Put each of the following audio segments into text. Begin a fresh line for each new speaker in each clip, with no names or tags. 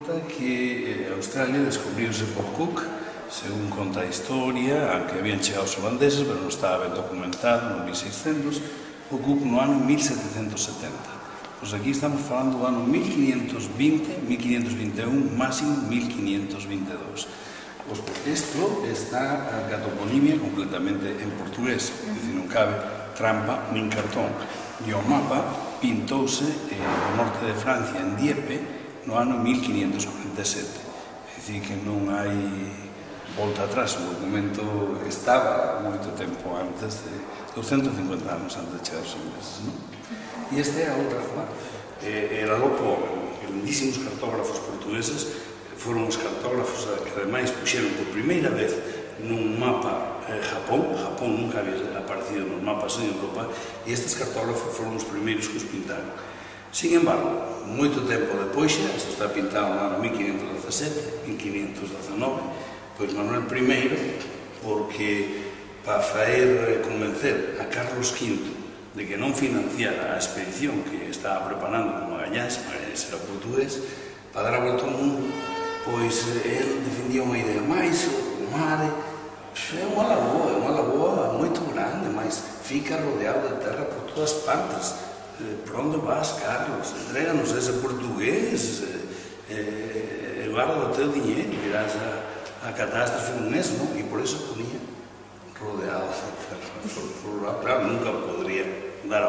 Que Australia descubriuse por Cook, según conta a historia, aunque habían chegado os holandeses, pero non estaba ben documentado, no 1600, o Cook no ano 1770. Pois aquí estamos falando do ano 1520, 1521, máximo 1522. Pois isto está a toponimia completamente en portugués, é dicir, non cabe trampa nin cartón. E o mapa pintouse no norte de Francia, en Dieppe, no ano 1547. É dicir, que non hai volta atrás, o documento estaba moito tempo antes, 250 anos antes de chegar os ingleses, non? E esta é a outra parte. Era logo grandísimos cartógrafos portugueses, foron os cartógrafos que ademais puxeron por primeira vez nun mapa Japón. Japón nunca había aparecido nos mapas en Europa, e estes cartógrafos foron os primeiros que os pintaron. Sin embargo, moito tempo depois, isto está pintado no ano 1517, 1519, pois Manuel I, porque para faer convencer a Carlos V de que non financiara a expedición que estaba preparando con Magallanes era portugués, para dar a volta ao mundo, pois ele defendía unha idea máis, o mar é unha lagoa moito grande, mas fica rodeado de terra por todas partes. Por onde vas, Carlos? Entréganos ese portugués, guarda o teu dinheiro, irás a catástrofe un mes, non? E por eso ponía rodeado de terra. Claro, nunca podría dar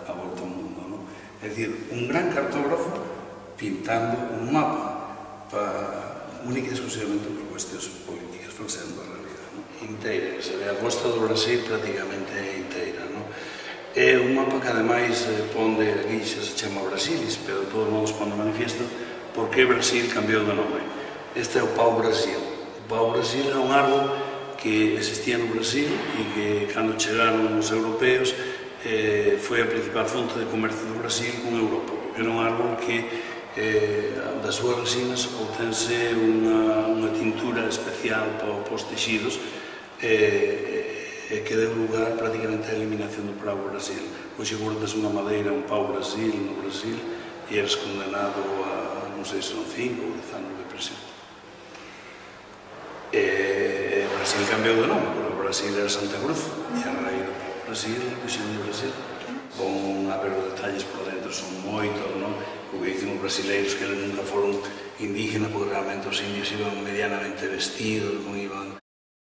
a volta ao mundo, non? É dicir, un gran cartógrafo pintando un mapa única e exclusivamente por cuestións políticas, falseando a realidad, non? Inteira, que se ve a costa do Brasil prácticamente inteira, non? É un mapa que ademais ponde, aquí xa se chama Brasilis, pero de todos modos ponde manifiesto por que Brasil cambiou de nome. Este é o pau Brasil. O pau Brasil é un árbol que existía no Brasil e que cando chegaron os europeos foi a principal fonte de comercio do Brasil con Europa, porque era un árbol que das súas resinas obtense unha tintura especial para os texidos que deu lugar prácticamente á eliminación do pau Brasil. Hoxe guardas unha madeira, un pau Brasil no Brasil e eres condenado a, non sei se son 5 ou 10 anos de prisión. Brasil cambiou de nome, porque o Brasil era Santa Cruz e a raíz do Brasil, a región de Brasil. Vão haber os detalles por dentro, son moitos, non? O que dicen os brasileiros que eles nunca foron indígenas, porque realmente os indios iban medianamente vestidos, non iban